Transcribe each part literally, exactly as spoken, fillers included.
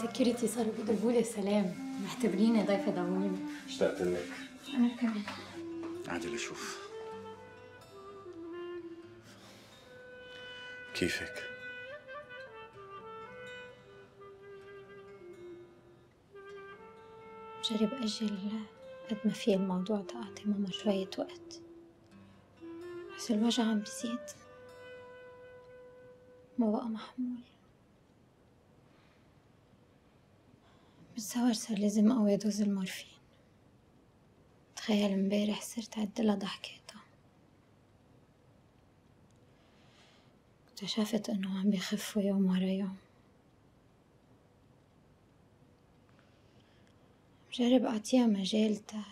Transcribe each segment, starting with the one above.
السكيورتي صاروا بيضربوا لي سلام، معتبريني ضيفة دعوني. اشتقت لك. أنا كمان. عادي لشوف كيفك؟ بجرب أجل قد ما في الموضوع ده، أعطي ماما شوية وقت، بس الوجع عم بيزيد، ما بقى محمول. بالزواج صار لازم أقوي دوز المورفين. تخيل امبارح صرت عدلها ضحكاتها، اكتشفت إنه عم بيخفوا يوم ورا يوم. بجرب أعطيها مجال تا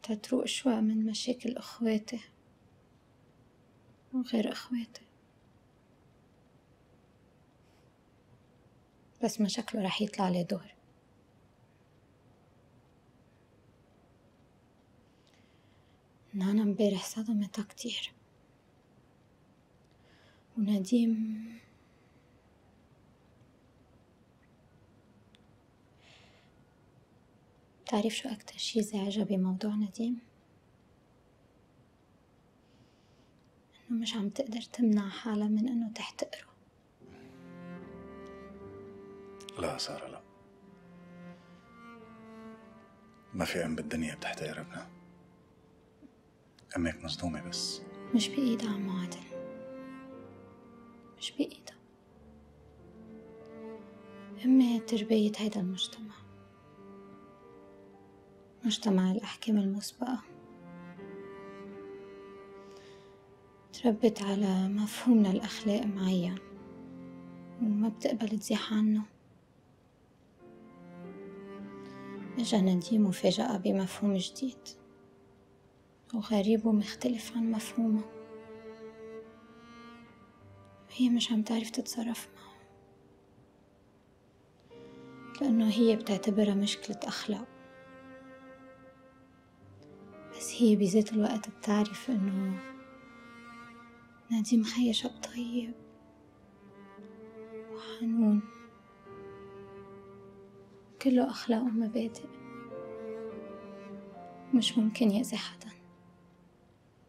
تتروق شوي من مشاكل إخواتي وغير إخواتي، بس ما شكله رح يطلع لي دور. نانا امبارح صدمتها كتير، ونديم بتعرف شو أكتر شي زعجها بموضوع نديم؟ إنه مش عم تقدر تمنع حالها من إنه تحتقره. لا سارة لا، ما في أم بالدنيا بتحتقر ابنها. أمك مصدومة بس. مش بإيدها عمو عادل، مش بإيدها. أمي تربية هيدا المجتمع، مجتمع الأحكام المسبقة. تربت على مفهوم للأخلاق معين وما بتقبل تزيح عنه. إجا نديم وفاجأها بمفهوم جديد وغريب ومختلف عن مفهومه، وهي مش عم تعرف تتصرف معه، لأنه هي بتعتبرها مشكلة أخلاق. بس هي بذات الوقت بتعرف إنه نديم خي شاب طيب وحنون، كله أخلاق ومبادئ، مش ممكن يأذي حدا.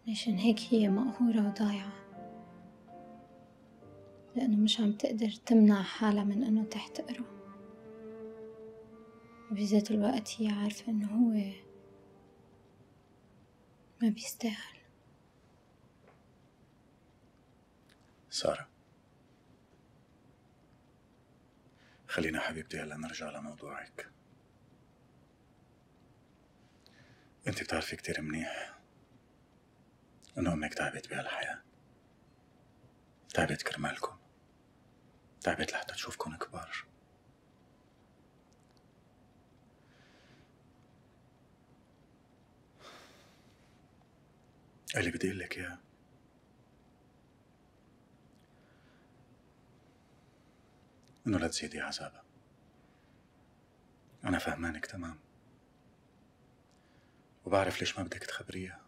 عشان هيك هي مقهورة وضايعة، لأنه مش عم تقدر تمنع حالها من إنه تحتقره، وبذات الوقت هي عارفة إنه هو ما بيستاهل. سارة خلينا حبيبتي هلا نرجع لموضوعك. انت بتعرفي كتير منيح انه امك تعبت بهالحياة، تعبت كرمالكم، تعبت لحتى تشوفكم كبار. اللي بدي اقول لك اياه انه لا تزيدي عذابها. انا فهمانك تمام وبعرف ليش ما بدك تخبريها،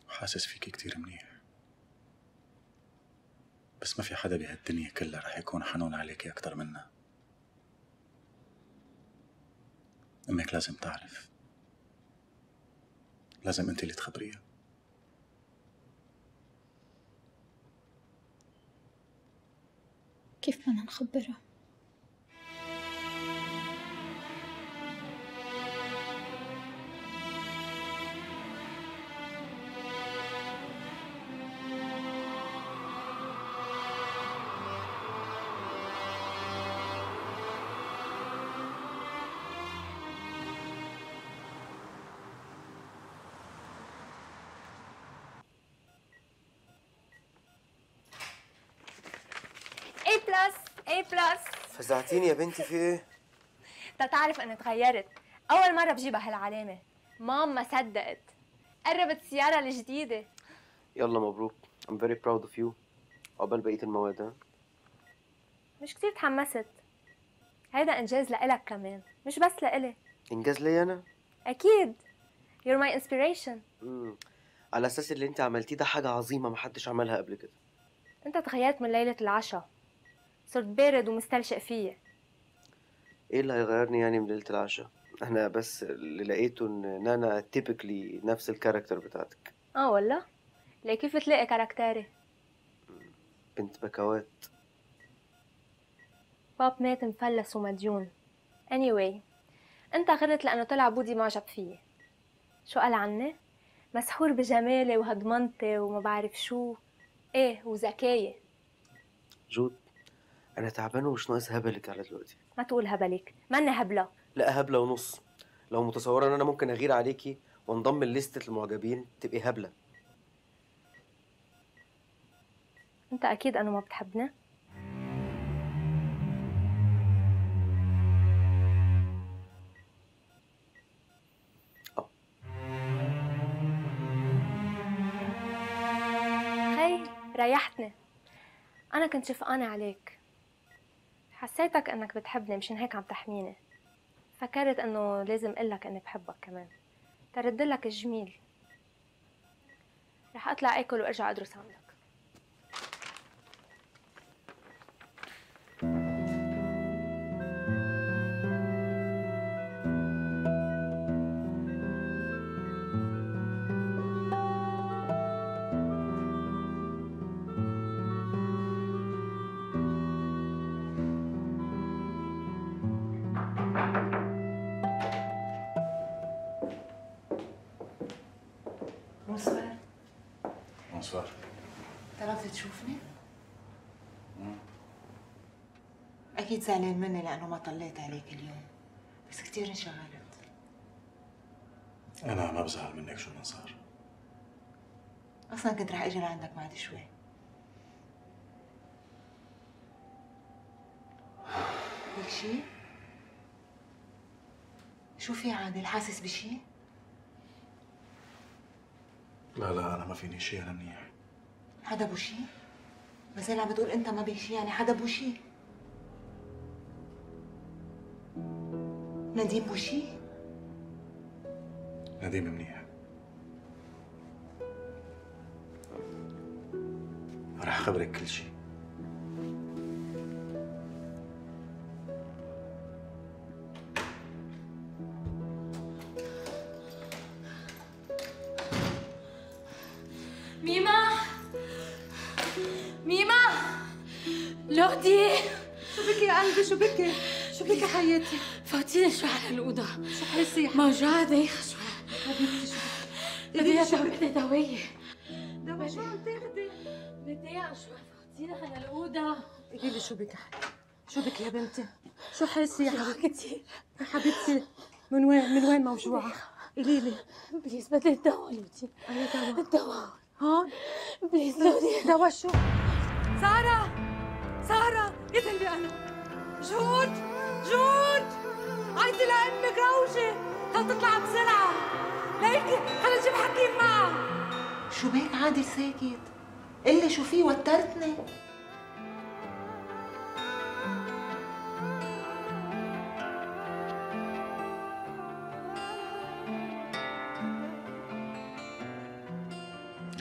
وحاسس فيكي كتير منيح، بس ما في حدا بهالدنيا كلها رح يكون حنون عليكي اكتر منها. امك لازم تعرف، لازم انت اللي تخبريها. كيف بدنا نخبرها؟ اي بلس اي بلس. فزعتيني يا بنتي، في ايه؟ تتعرف اني تغيرت، اول مره بجيبها هالعلامه. مام ما صدقت، قربت السياره الجديده. يلا مبروك. I'm very proud of you. عقبال بقيه المواد. ها مش كتير تحمست، هيدا انجاز لإلك كمان، مش بس لإلي. انجاز ليا انا؟ اكيد. You're my inspiration. امم على اساس اللي انت عملتيه ده حاجه عظيمه محدش عملها قبل كده. انت تغيرت من ليله العشاء، صرت بارد ومستلشق فيي. ايه اللي هيغيرني يعني من ليلة العشاء؟ انا بس اللي لقيته ان نانا تيبيكلي نفس الكاركتر بتاعتك. اه والله؟ ليه كيف تلاقي كاركتيري؟ بنت بكوات. باب مات مفلس ومديون. anyway انت غرت لانه طلع بودي معجب فيي. شو قال عني؟ مسحور بجمالي وهضمنتي وما بعرف شو. ايه وذكاية. جود انا تعبان ومش ناقص هبلك على دلوقتي. ما تقول هبلك، ماني هبلة. لا هبلة ونص. لو متصورة ان انا ممكن اغير عليكي وانضم لليستة المعجبين تبقي هبلة. انت اكيد انه ما بتحبني. اه خي ريحتني. انا كنت شفقانة عليك، حسيتك انك بتحبني مشان هيك عم تحميني. فكرت انه لازم اقلك اني بحبك كمان تردلك الجميل. رح اطلع اكل وارجع ادرس عندك. بونسوار. بونسوار. طلبت تشوفني؟ أكيد زعلان مني لأنه ما طليت عليك اليوم، بس كتير انشغلت. أنا ما بزعل منك شو ما صار. أصلاً كنت رح أجي لعندك بعد شوي. فيك شي؟ شو في عادل؟ حاسس بشي؟ لا لا أنا ما فيني شيء، أنا منيح. حدا بو شي؟ ما زال عم بتقول أنت ما بيك شي، يعني حدا بو شي؟ نديم بو شي؟ نديم منيح. رح أخبرك كل شيء. ميمة ميمة لودي. شو بك يا قلبي؟ شو بك؟ شو بك يا حياتي؟ فوتيني شوي على الأوضة. شو حاسة يا موجوعة دايخة شوي. حبيبتي؟ شو بدي بدي دواية. دوا شو عم تاخدي؟ بدي شوي. فوتيني على الأوضة. قولي لي شو بك يا حبيبتي؟ شو بك يا بنتي؟ شو حاسة يا حبيبتي؟ كتير يا حبيبتي من وين من وين موجوعة؟ قولي لي. بليز بدي الدواء لودي. أي دوا؟ الدواء هون؟ بليز لودي. دوا شو؟ سارة سارة يا قلبي أنا. جود جود عيطي لأمك روجي، خل تطلع بسرعة. ليكي خلينا نجيب حكيم معها. شو بيك عادل ساكت؟ قلي شو في، وترتني.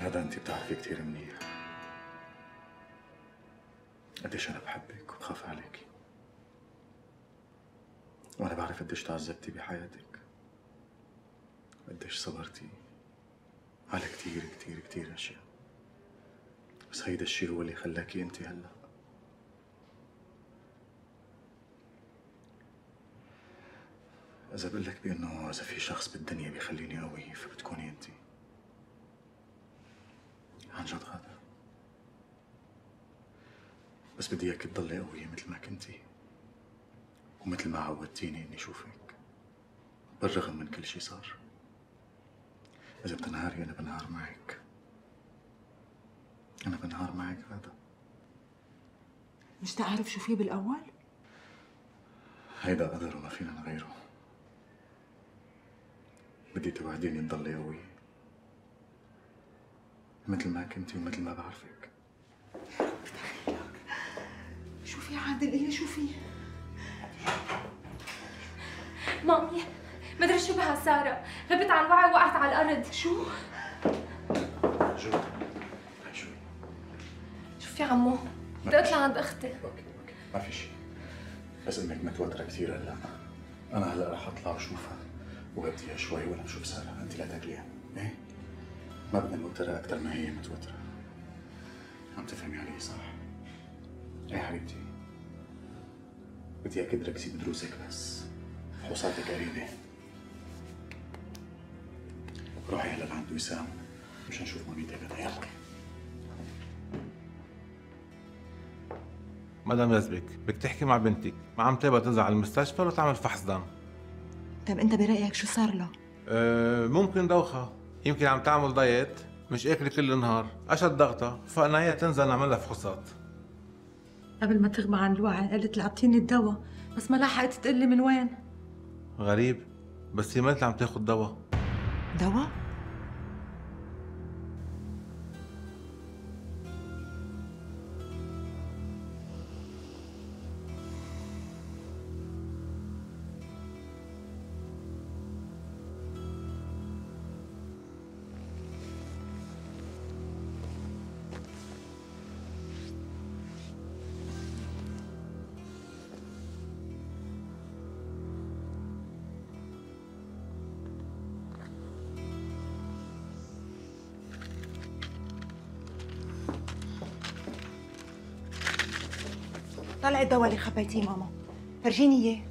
هذا أنت بتعرفي كثير منيح قديش أنا بحبك وبخاف عليكي، وأنا بعرف قديش تعذبتي بحياتك، قديش صبرتي على كثير كثير كثير أشياء، بس هيدا الشيء هو اللي خلاكي أنت هلا. إذا بقول لك بأنه إذا في شخص بالدنيا بيخليني قوي فبتكوني أنت. عن جد غادة، بس بدي اياك تضلي قوية مثل ما كنتي ومثل ما عودتيني اني اشوفك بالرغم من كل شي صار. اذا بتنهاري انا بنهار معك، انا بنهار معك غادة. مش تعرف شو في بالأول؟ هيدا قدر وما فينا نغيره. بدي توعديني تضلي قوية مثل ما كنتي ومثل ما بعرفك. شو في عادل؟ قلي شو في؟ مامي مدري شو بها سارة، غبت عن وعي وقعت على الأرض. شو؟ جود هاي شوي. شو في عمو؟ بدي أطلع عند أختي. اوكي اوكي ما في شيء. بس انك متوترة كثير هلا. انا هلا رح اطلع واشوفها وغديها شوي ولا بشوف سارة، انت لا تاكليها، ايه؟ ما بدنا نوترها اكثر ما هي متوترة. عم تفهمي علي صح؟ ايه حبيبتي، بدي اياك تركزي بدروسك بس، فحوصاتك قريبة. روحي هلا لعند وسام مشان نشوف ماميتك غدا، يلا. مدام يزبك، بدك تحكي مع بنتك، ما عم تبغى تنزل على المستشفى وتعمل فحص دم. طيب انت برايك شو صار له؟ أه ممكن دوخة، يمكن عم تعمل دايت، مش اكل كل النهار، اشد ضغطة، فقلنا هي تنزل نعمل لها فحوصات. قبل ما تغمى عن الوعي قالت لي اعطيني الدواء، بس ما لحقت تقلي من وين. غريب، بس هي ما عم تاخذ دواء. دواء؟ طلعي الدواء اللي خبيتيه ماما، فرجيني اياه.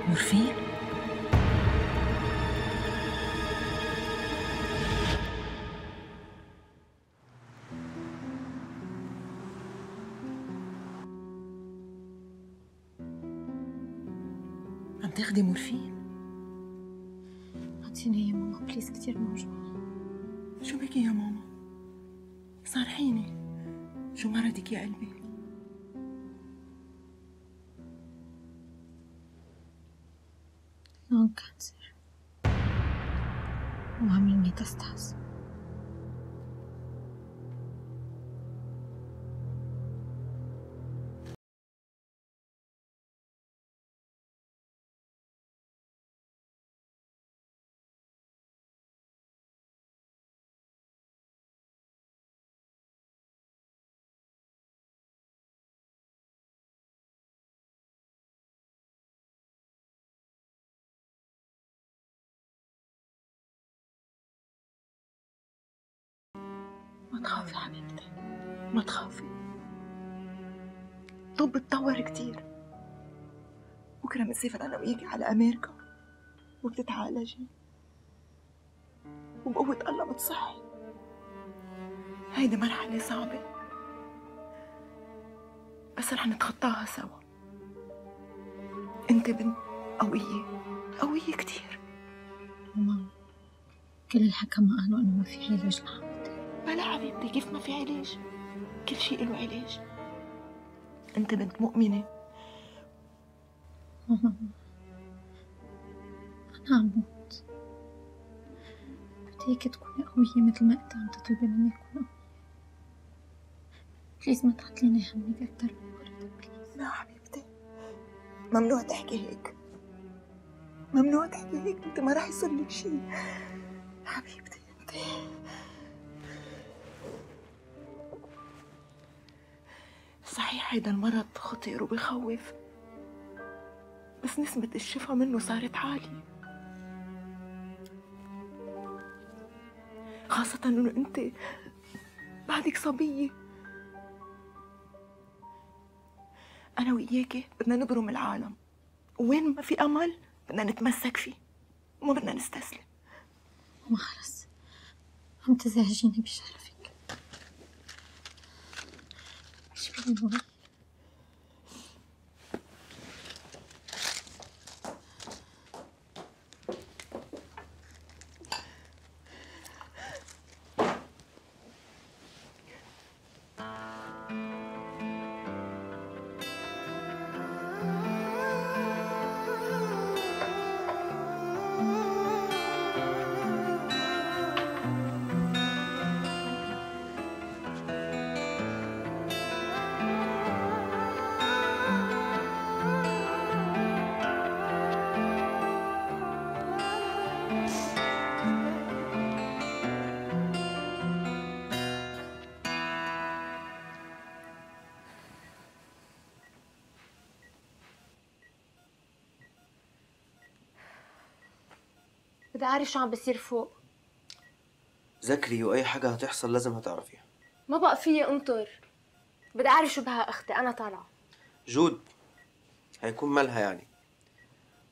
مورفين؟ عم تاخدي مورفين؟ أعطيني يا ماما بليز، كتير موجوعة. شو بك يا ماما؟ صارحيني، شو مرضك يا قلبي؟ لون كانسر وعاملين ميتاستاز. ما تخافي حبيبتي، ما تخافي. الطب اتطور كتير. بكره بنسافر انا وياكي على امريكا وبتتعالجي وبقوة الله بتصحي. هيدي مرحلة صعبة بس رح نتخطاها سوا. انت بنت قوية، قوية كتير. ماما كل الحكماء قالوا إنه ما في علاج لحالتي. بلا حبيبتي، كيف ما في علاج؟ كل شيء له علاج. انت بنت مؤمنة. ماما أنا عم موت، بدي إياكي تكوني قوية مثل ما أنت عم تطلبي مني أكون قوية. بليز ما تعطليني همك أكتر من مرة بليز. لا حبيبتي، ممنوع تحكي هيك، ممنوع تحكي هيك. انت ما رح يصير لك شيء حبيبتي. انت صحيح هيدا المرض خطير وبخوف، بس نسبة الشفاء منه صارت عالية، خاصة انه انت بعدك صبية. انا وياكي بدنا نبرم العالم، وين ما في امل بدنا نتمسك فيه وما بدنا نستسلم. ماما خلص عم تزعجيني بشرفك. ايش فيني نقول؟ بدي أعرف شو عم بيصير فوق. ذكري وأي حاجة هتحصل لازم هتعرفيها. ما بقى فيي انطر، بدي أعرف شو بها أختي، أنا طالعة. جود هيكون مالها يعني؟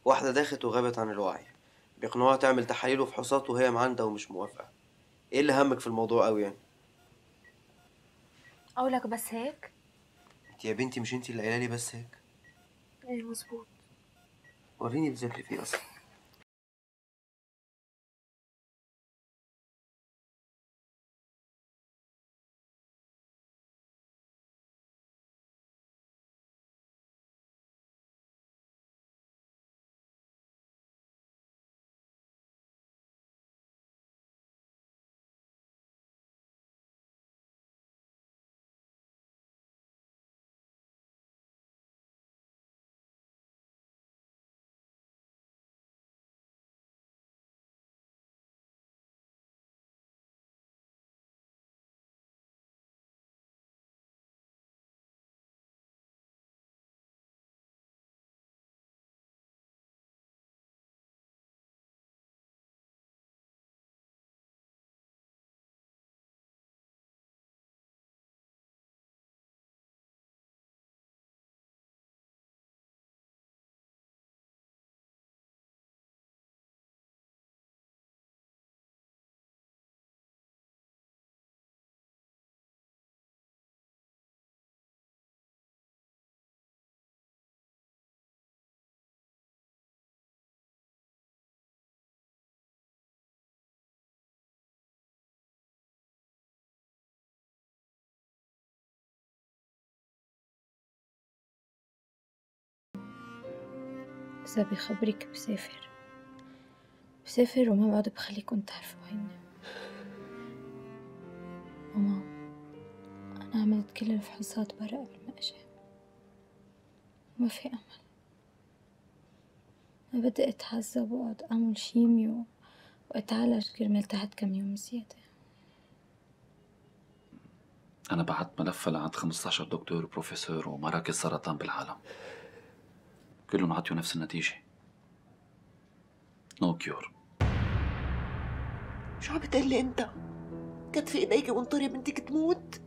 واحدة داخت وغابت عن الوعي، بيقنعوها تعمل تحاليل وفحوصات وهي معندها ومش موافقة. ايه اللي همك في الموضوع قوي يعني؟ قولك بس هيك؟ انت يا بنتي مش انت اللي قايله لي بس هيك؟ ايه مزبوط. وريني بتذاكري فيه اصلا. إذا بخبرك بسافر بسافر وما بعد بخليكم تعرفوا هيني. ماما أنا عملت كل الفحوصات برا قبل ما أجي، ما في أمل. ما بدي أتعذب وأقعد أعمل شيميو وأتعالج كرمال تحت كم يوم زيادة. أنا بعت ملفة لعند خمسة عشر دكتور وبروفيسور ومراكز سرطان بالعالم، كلهم عطيوا نفس النتيجة، نو كيور. شو عم بتقلي انت؟ كتفي ايديك وانطري بنتك تموت؟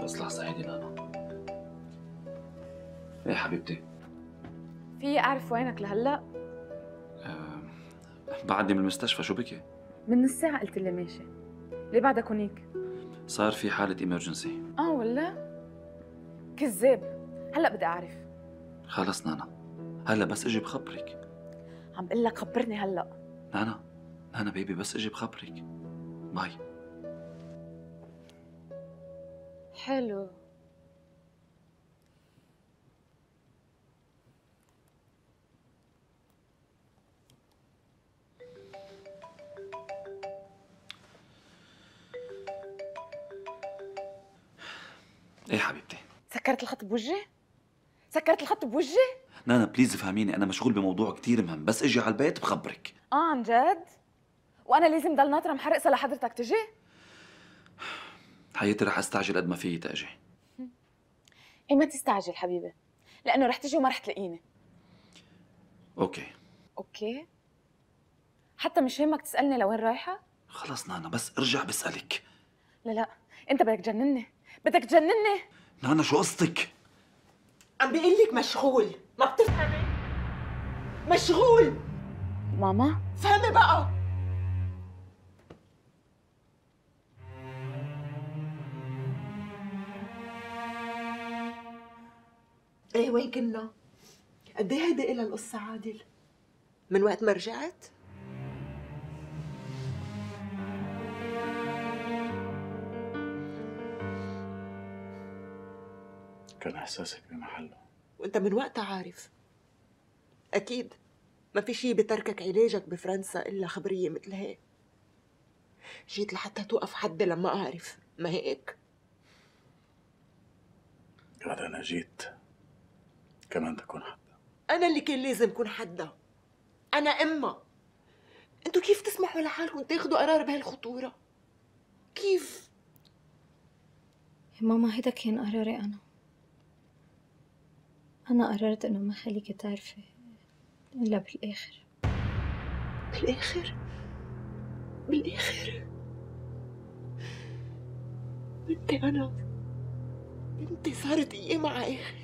بس لحظة هيدي نانا. ايه حبيبتي؟ في اعرف وينك لهلا؟ أه بعدني من المستشفى، شو بكي؟ من نص ساعة قلت لي ماشي، ليه بعدك هونيك؟ صار في حالة ايمرجنسي. اه ولا؟ كذاب، هلا بدي اعرف. خلص نانا، هلا بس اجي بخبرك. عم بقول لك خبرني هلا. نانا نانا بيبي بس اجي بخبرك. باي. حلو. ايه حبيبتي؟ سكرت الخط بوجهي؟ سكرت الخط بوجهي؟ نانا بليز فهميني، انا مشغول بموضوع كتير مهم، بس اجي على البيت بخبرك. اه عن جد؟ وانا لازم ضل ناطره محرقه لحضرتك تجي؟ حياتي رح استعجل قد ما فيي تاجي. ايه ما تستعجل حبيبي، لانه رح تجي وما رح تلاقيني. اوكي اوكي؟ حتى مش همك تسالني لوين رايحه؟ خلص نانا بس ارجع بسألك. لا لا انت بدك تجنني، بدك تجنني. نانا شو قصتك؟ عم بيقول لك مشغول، ما بتفهمي؟ مشغول. ماما فهمي بقى. ايه وين كنا؟ قد ايه هيدي إلها القصة عادل؟ من وقت ما رجعت؟ كان إحساسك بمحله، وانت من وقتها عارف. اكيد ما في شي بتركك علاجك بفرنسا الا خبريه مثل هيك. جيت لحتى توقف حدي لما اعرف، ما هيك؟ قال أنا جيت كمان تكون حدا. انا اللي كان لازم كون حدا. انا امها. انتوا كيف تسمحوا لحالكم تاخذوا قرار بهالخطوره؟ كيف؟ يا ماما هيدا كان قراري أنا. أنا قررت إنه ما خليكي تعرفي إلا بالآخر. بالآخر؟ بالآخر؟ بنتي أنا بنتي صارت أيام على آخر.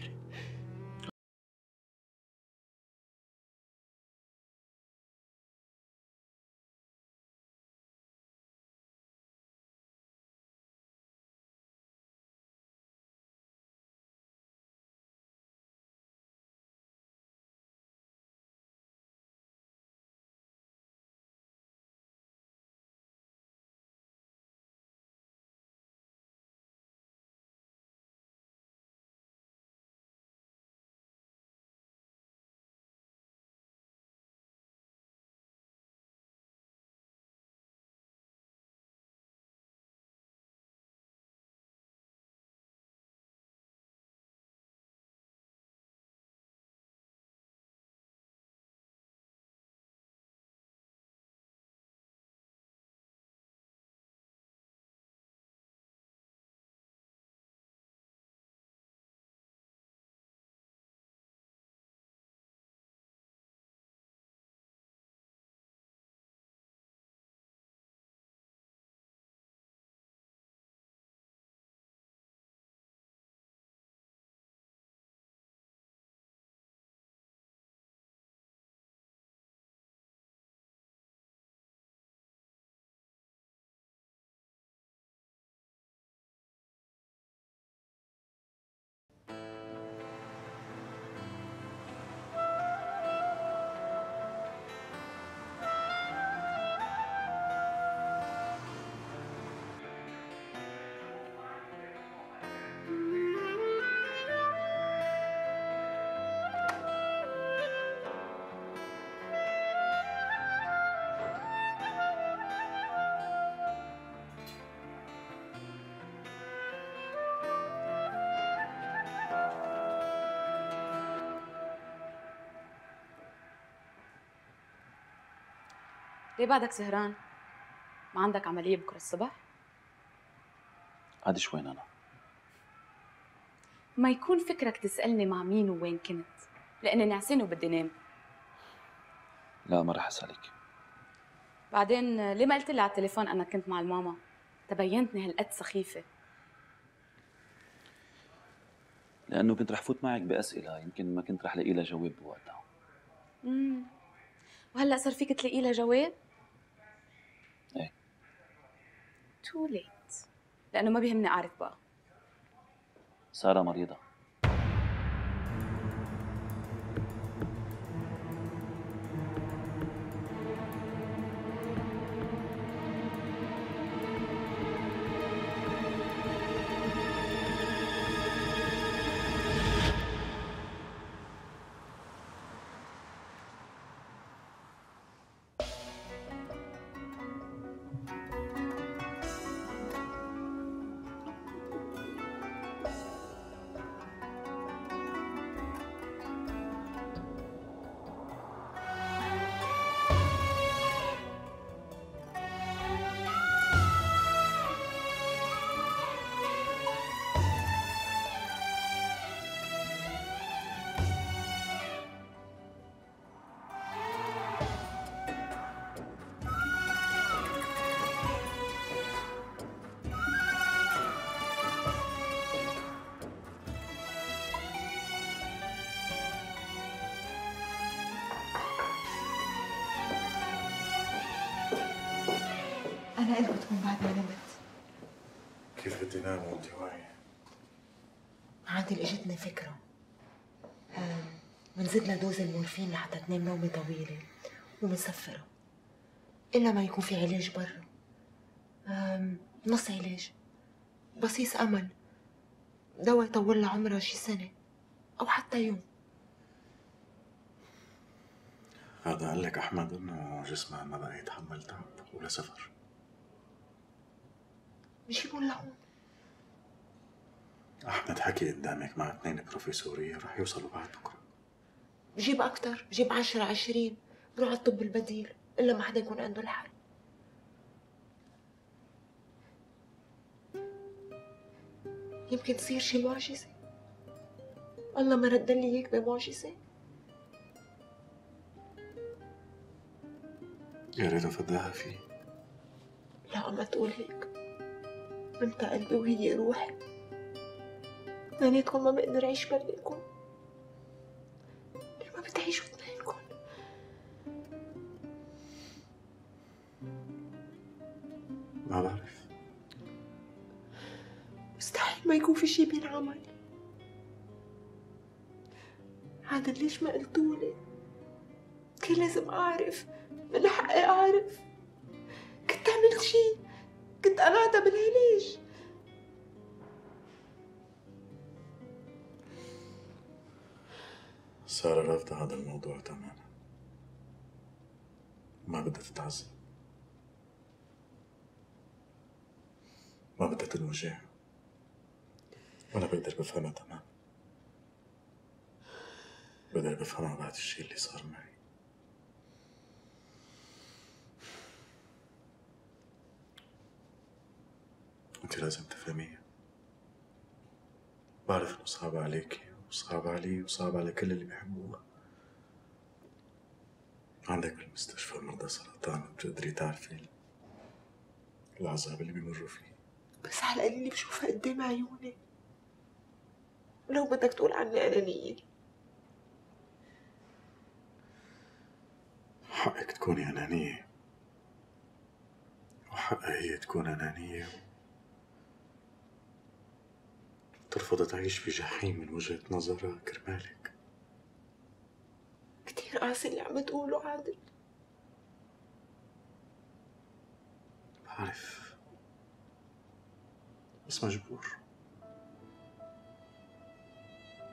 ليه بعدك سهران؟ ما عندك عملية بكرة الصبح؟ عادي شوي أنا. ما يكون فكرك تسألني مع مين ووين كنت، لأني نعسان وبدي نام. لا ما رح أسألك. بعدين ليه ما قلت لي على التليفون أنك كنت مع الماما؟ تبينتني هالقد سخيفة. لأنه كنت رح فوت معك بأسئلة يمكن ما كنت رح لاقي لها جواب بوقتها. امم وهلا صار فيك تلاقي لها جواب؟ ايه. تو ليت، لأنه ما بيهمني أعرف بقى. سارة مريضة. أنا قلت بتكون بعد ما نمت. كيف بدي نام وانت واعية؟ عادل اجتني فكرة. بنزيد لها دوز المورفين لحتى تنام نومة طويلة ومسفرة. إلا ما يكون في علاج برا. نص علاج. بصيص أمل. دواء يطول لها عمرها شي سنة أو حتى يوم. هذا قال لك أحمد إنه جسمها ما بقى يتحمل تعب ولا سفر. بجيبوا لهون. أحمد حكي قدامك مع اثنين بروفيسورية رح يوصلوا بعد بكرة. بجيب أكتر، بجيب عشرة عشرين، بروح على الطب البديل، إلا ما حدا يكون عنده الحل. يمكن تصير شي معجزة. الله ما رد لي اياك بمعجزة. يا ريت افداها فيه. لا ما تقول هيك، انت قلبي وهي روحي، اثنيناتكم ما بقدر اعيش بلكم. ليه ما بتعيشوا اثنينكم؟ ما بعرف. مستحيل ما يكون في شي بينعمل. عادل ليش ما قلتولي؟ كان لازم اعرف، من حقي اعرف. كنت عملت شي، كنت قلعتها بالعلاج. سارة رافضة هذا الموضوع تماما، ما بدها تتعذب، ما بدها تنوجع، وأنا بقدر بفهمها تماما. بقدر بفهمها بعد الشي اللي صار معي. انت لازم تفهميها. بعرف انه صعب عليكي وصعب علي وصعب على كل اللي بيحبوها. عندك بالمستشفى مرضى سرطان وبتقدري تعرفي العذاب اللي بيمروا فيه. بس على القليل بشوفها قدام عيوني. ولو بدك تقول عني أنانية، حقك تكوني أنانية، وحقها هي تكون أنانية ترفض تعيش في جحيم من وجهة نظرها كرمالك. كتير قاسي اللي عم تقوله عادل. بعرف، بس مجبور.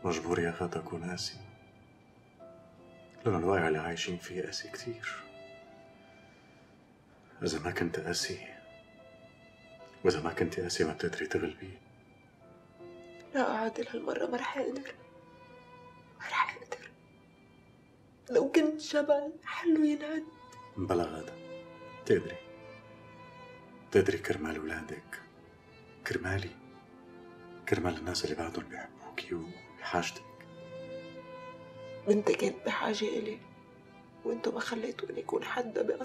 مجبور يا غدا أكون قاسي، لأن الواقع اللي عايشين فيه قاسي كتير. إذا ما كنت قاسي، وإذا ما كنت قاسي ما بتقدري تغلبي. لا عادل، هالمرة ما رح أقدر، ما رح أقدر. لو كنت جبل حلو ينهد. بلا غدا، تقدري تقدري كرمال ولادك، كرمالي، كرمال الناس اللي بعدهم بيحبوكي وبحاجتك. بنتي كانت بحاجة إلي، وانتو ما خليتوني يكون حدا بقصد.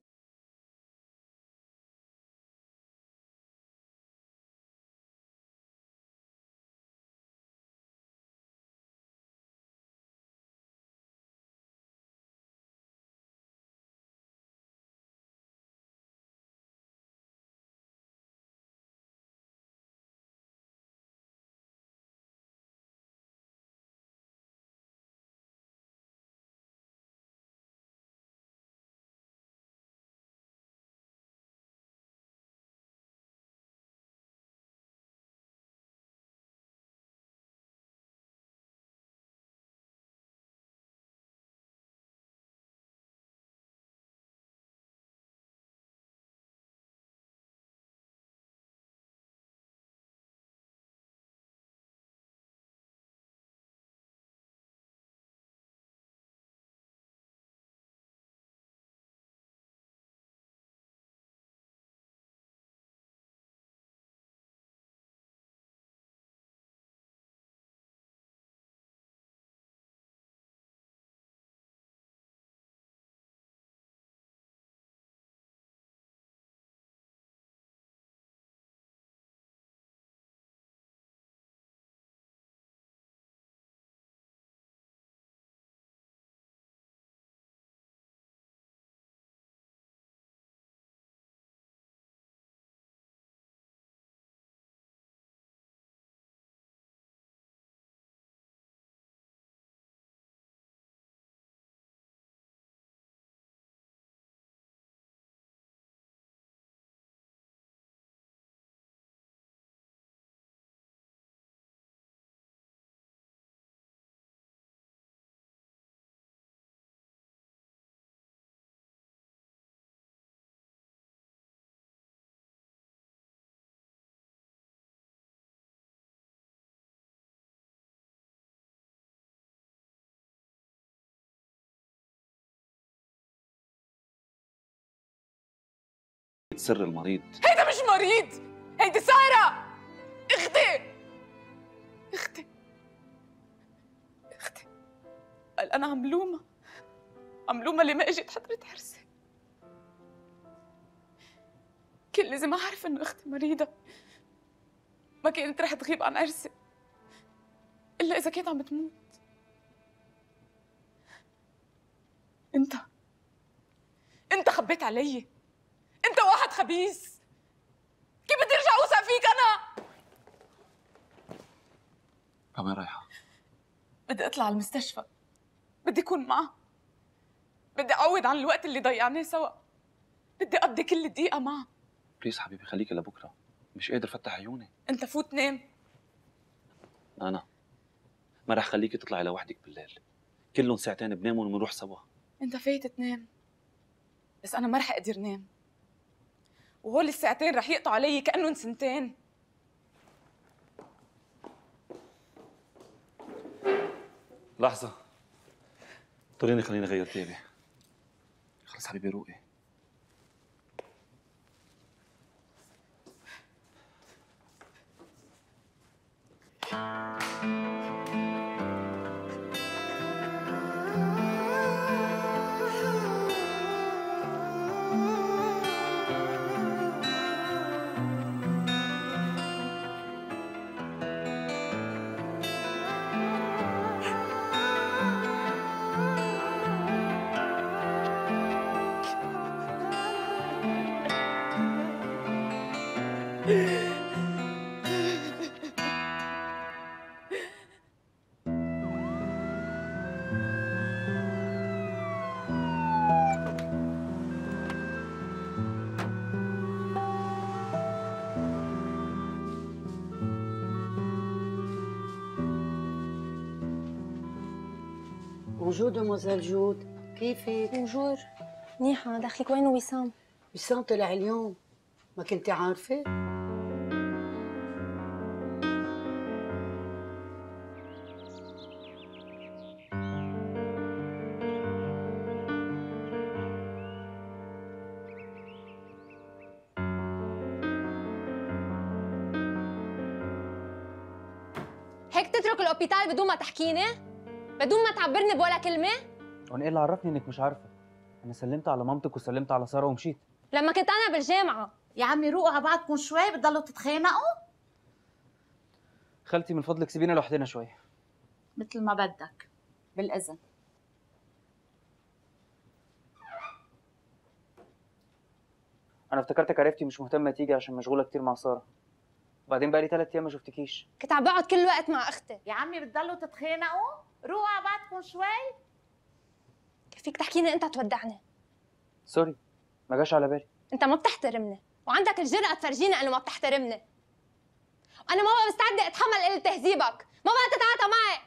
سر المريض. هيدا مش مريض، هيدي سارة اختي. أنا عم لومها عم لومها اللي ما إجت حضرت عرسي. كان لازم أعرف إنه أختي مريضة، ما كانت رح تغيب عن عرسي إلا إذا كانت عم تموت. أنت أنت خبيت علي، أنت واحد خبيث. كيف بدي أرجع أوثق فيك أنا؟ وين رايحة؟ بدي أطلع على المستشفى، بدي أكون معها، بدي أعوض عن الوقت اللي ضيعناه سوا، بدي أقضي كل دقيقة معها. بليز حبيبي خليكي لبكرة، مش قادر فتح عيوني. أنت فوت نام. أنا ما رح خليكي تطلعي لوحدك بالليل، كلهم ساعتين بنام وبنروح سوا. أنت فايت تنام، بس أنا ما رح أقدر نام، وهول الساعتين رح يقطعوا علي كأنهم سنتين. لحظة، طريني خليني أغير ثيابي. خلص حبيبي روقي. بونجور دوموزيل جود، كيفك؟ بونجور، منيحة. دخلك وين وسام؟ وسام طلع اليوم، ما كنتي عارفة؟ هيك تترك الأوبيتال بدون ما تحكيني؟ بدون ما تعبرني بولا كلمة؟ وانا ايه اللي عرفني انك مش عارفه؟ انا سلمت على مامتك وسلمت على ساره ومشيت. لما كنت انا بالجامعه. يا عمي روقوا على بعضكم شوي، بتضلوا تتخانقوا؟ خالتي من فضلك سيبينا لوحدنا شوي. مثل ما بدك، بالاذن. انا افتكرتك عرفتي مش مهتمه تيجي عشان مشغوله كتير مع ساره. وبعدين بقالي ثلاث ايام ما شفتكيش. كنت عم بقعد كل وقت مع اختي. يا عمي بتضلوا تتخانقوا؟ روقوا على بعضكم شوي. كيف فيك تحكيني انت تودعني؟ سوري ما جاش على بالي. انت ما بتحترمني، وعندك الجرأة تفرجيني انه ما بتحترمني. وانا ما بقى مستعده اتحمل قله تهذيبك، ما بقى تتعاطى معي.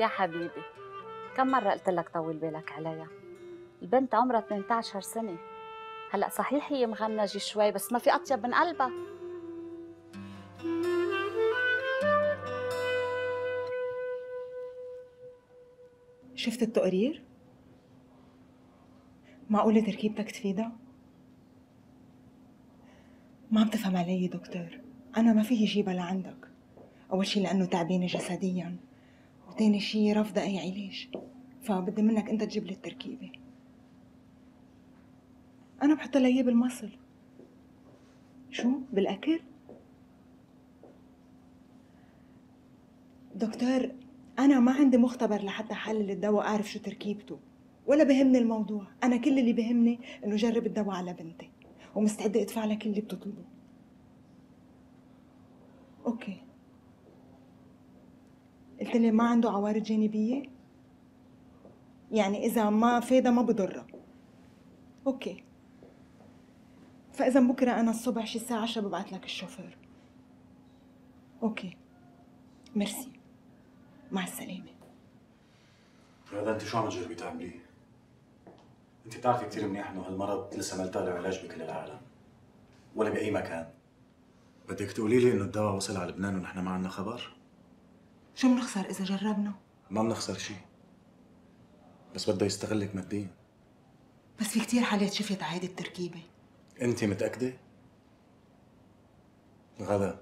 يا حبيبي كم مرة قلت لك طول بالك عليها؟ البنت عمرها ثمانية عشر سنة، هلا صحيح هي مغنجة شوي بس ما في أطيب من قلبها. شفت التقرير؟ معقولة تركيبتك تفيدها؟ ما عم تفهم علي دكتور، أنا ما فيي جيبها لعندك. أول شي لأنه تعبانة جسدياً، وتاني شي رافضة أي علاج، فبدي منك أنت تجيب لي التركيبة. أنا بحط لها إياه بالمصل. شو؟ بالأكل؟ دكتور أنا ما عندي مختبر لحتى حلل الدواء أعرف شو تركيبته، ولا بهمني الموضوع. أنا كل اللي بهمني إنه جرب الدواء على بنتي، ومستعدة أدفع لك اللي بتطلبه. أوكي. قلت لي ما عنده عوارض جانبية؟ يعني إذا ما فايدة ما بضرها. أوكي. فإذا بكرة أنا الصبح شي الساعة عشرة ببعث لك الشوفير. أوكي. ميرسي. مع السلامة. هذا انت شو عم تجربي تعمليه؟ انت بتعرفي كثير منيح انه هالمرض لسه ما لقى له علاج بكل العالم ولا باي مكان. بدك تقولي لي انه الدواء وصل على لبنان ونحن ما عندنا خبر؟ شو بنخسر إذا جربنا؟ ما بنخسر شي، بس بده يستغلك ماديا. بس في كتير حالات شفت هيدي التركيبة. انت متأكدة؟ غدا،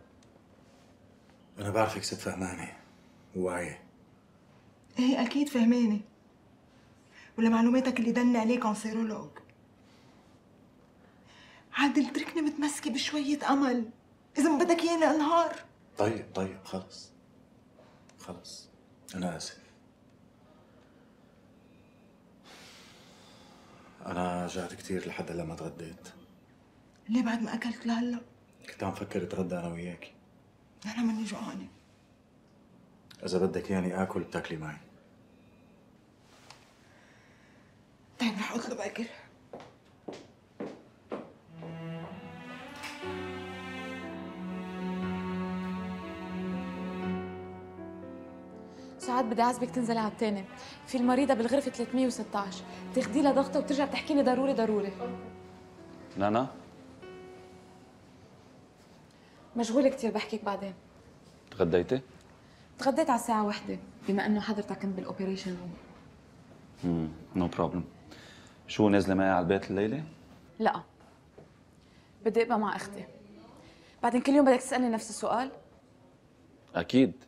أنا بعرفك ست فهمانة وواعية. ايه أكيد فهمانة، ولمعلوماتك اللي دلني عليه كونسيرولوج. عادل اتركني متمسكة بشوية أمل، إذا ما بدك إياني أنهار. طيب طيب خلص خلص، أنا آسف. أنا جعت كتير لحد هلا ما تغديت. ليه بعد ما أكلت لهلا؟ كنت عم فكر اتغدى أنا وياكي. أنا مني جوعانة. إذا بدك ياني آكل بتاكلي معي. طيب رح أطلب أكل. ساعات بدي اعزبك تنزلي على التاني، في المريضة بالغرفة ثلاثمية وستة عشر، تاخدي لها ضغطة وترجع بتحكي لي ضروري ضروري. نانا مشغولة كتير، بحكيك بعدين. تغديتي؟ تغديت على الساعة واحدة بما انه حضرتك كنت بالاوبريشن روم. امم نو بروبلم. شو نازلة معي على البيت الليلة؟ لا، بدي ابقى مع اختي. بعدين كل يوم بدك تسألني نفس السؤال؟ أكيد،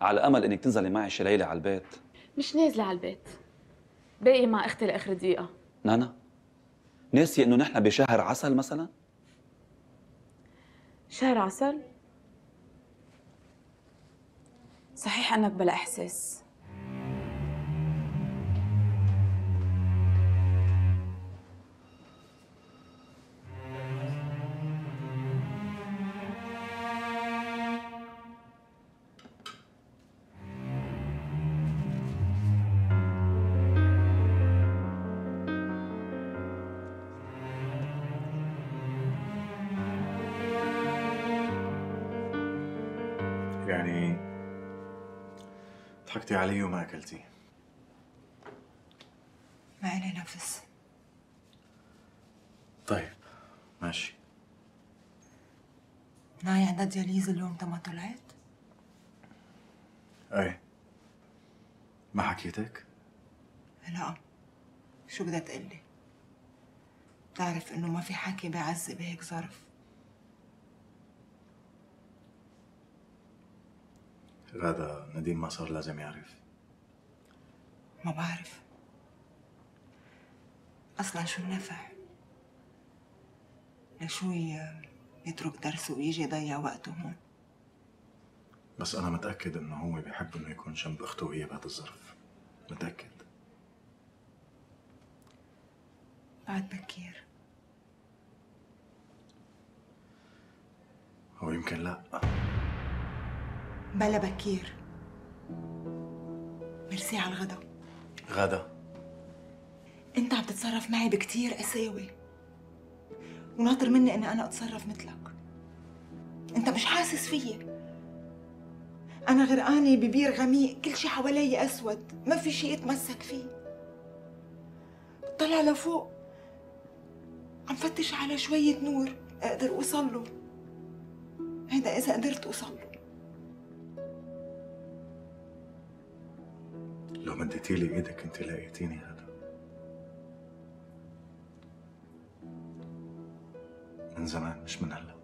على أمل إنك تنزلي معي شي ليلة على البيت. مش نازلة على البيت، باقي مع اختي لاخر دقيقة. نانا، ناسية إنه نحن بشهر عسل مثلا؟ شهر عسل؟ صحيح انك بلا احساس. يعني ضحكتي علي وما أكلتي. ما إلي نفس. طيب ماشي. ناي عندها دياليز اليوم تما طلعت؟ ايه. ما حكيتك؟ لا، شو بدها تقلي؟ بتعرف إنه ما في حكي بيعزي بهيك ظرف. غادة، نديم ما صار لازم يعرف. ما بعرف أصلاً شو النفع؟ لشو يترك درسه ويجي يضيع وقته هون؟ بس أنا متأكد إنه هو بيحب إنه يكون جنب أخته وهي بهذا الظرف. متأكد. بعد بكير. هو يمكن لا. بلا بكير. ميرسي على الغدا. غادة، انت عم تتصرف معي بكتير قساوة، وناطر مني اني انا اتصرف مثلك. انت مش حاسس فيي. انا غرقانة ببير غميق، كل شي حوالي اسود، ما في شي اتمسك فيه. طلع لفوق عم فتش على شوية نور اقدر اوصل له. هيدا اذا قدرت اوصل له. لو مديتي لي ايدك انت لقيتيني. هذا من زمان مش من هلا.